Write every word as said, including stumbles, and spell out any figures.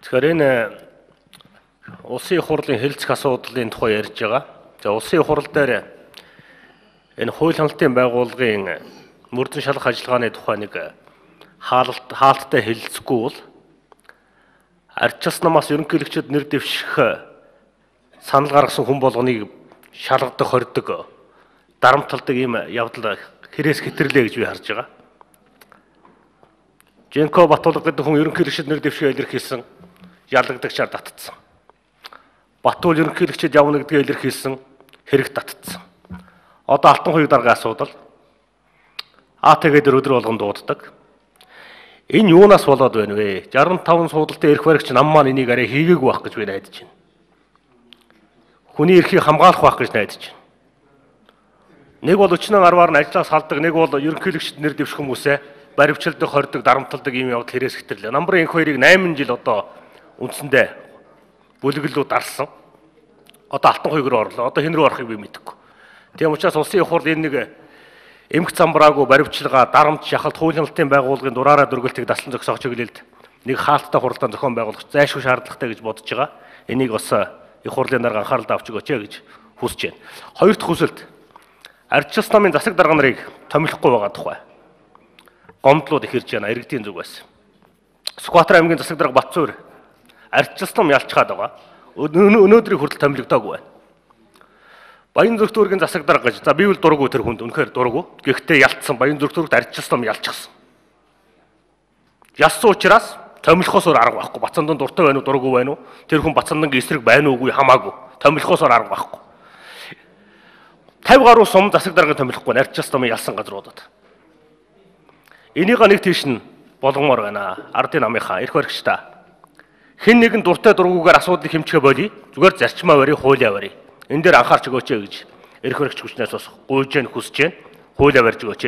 Тэгэхээр энэ улсын их хурлын хэлцэх асуудлын тухай ярьж байгаа. За улсын их хурл дээр энэ хууль хяналтын байгууллагын мөрдөн шалгах ажиллагааны тухай нэг хаалт хаалттай хэлэлцэхгүй бол ардчилсан намаас ерөнхийлөгчөд нэр дэвших санал гаргасан хүн болгоныг шалгадаг, хордог, дарамталдаг ийм явдал хэрээс хэтэрлээ гэж би харж байгаа. Женко Батулга гэдэг хүн ерөнхийлөгчөд нэр дэвшихээ илэрхийлсэн, ялагдагчаар татцсан. Батул ерөнхийлөгчөд явна гэдгээ илэрхийлсэн, хэрэг татцсан. Одоо Алтан хуйг дарга асуудал А тэгээд өдөр болгон дууддаг. Энэ юунаас болоод байна вэ? шестдесет и таван суудалтай эрх баригч нам маань энийг арай хийгээгүй байх гэж би найдаж байна. Хүний эрхийг хамгаалах байх гэж найдаж байна. Нэг бол өчнөн арваар нь ажлаас салдаг, нэг бол ерөнхийлөгчд нэр дэвших хүмүүсээ баривчилдаг, хордог, дарамталдаг ийм явдал хэрэгс хэтэрлээ. Намбарын энх хоёрыг найман жил одоо үндсэндээ бүлэглүүд дарсан. Одоо Алтан хуйг руу орлоо. Одоо хэн рүү орохыг би мэдэхгүй. Тийм учраас улсын их хурл энэ нэг эмх замбраагүй баривчилгаа, дарамт, шахалт, хууль хяналтын байгууллагын дураараа дөргөлтийг даслан зогсоох чиглэлд нэг хаалттай хуралдаан зохион байгуулах зайлшгүй шаардлагатай гэж бодож байгаа. Энийг бас их хурлын дарга анхааралд авч өгөөч гэж хүсэж байна. Хоёр дахь хүсэлт ардчилсан намын засаг дарга нарыг томилохгүй байгаа тухай. Гомдлууд их ирж байна иргэдийн зүгээс. Сүхбаатар аймгийн засаг дарга Батцуур ардчилсан нам ялчхаад байгаа. Өнөөдрийг хүртэл томилогдоогүй байна. Баян зүрх дүүргийн засаг дарга гэж. За би бол дурггүй тэр хүнд үнэхээр дурггүй. Гэхдээ ялцсан Баян зүрх дүүрэгт ардчилсан нам ялчихсан. Ялсан учраас томилохоос өөр арга байхгүй. Бацандан дуртай байна уу, дурггүй байна уу? Тэр хүн Бацандангийн эсрэг байна уугүй хамаагүй. Томилохоос өөр арга байхгүй. тавь гаруй сум засаг даргыг томилохгүй ардчилсан нам ялсан газруудад. Энийг нэг тийш нь болгомоор байна. Ардын намынхаа эрх баригчдаа. Хэн нэгэн дуртай дургүйгээр асуудлыг хэмжихэ болий. Зүгээр зарчмаа барий, хуулиа барий. Энэ дээр анхаарч өгөөч гэж эрх баригч хүчнээс бас гуйж гэн хүсэж гэн хуулиа барьж өгөөч.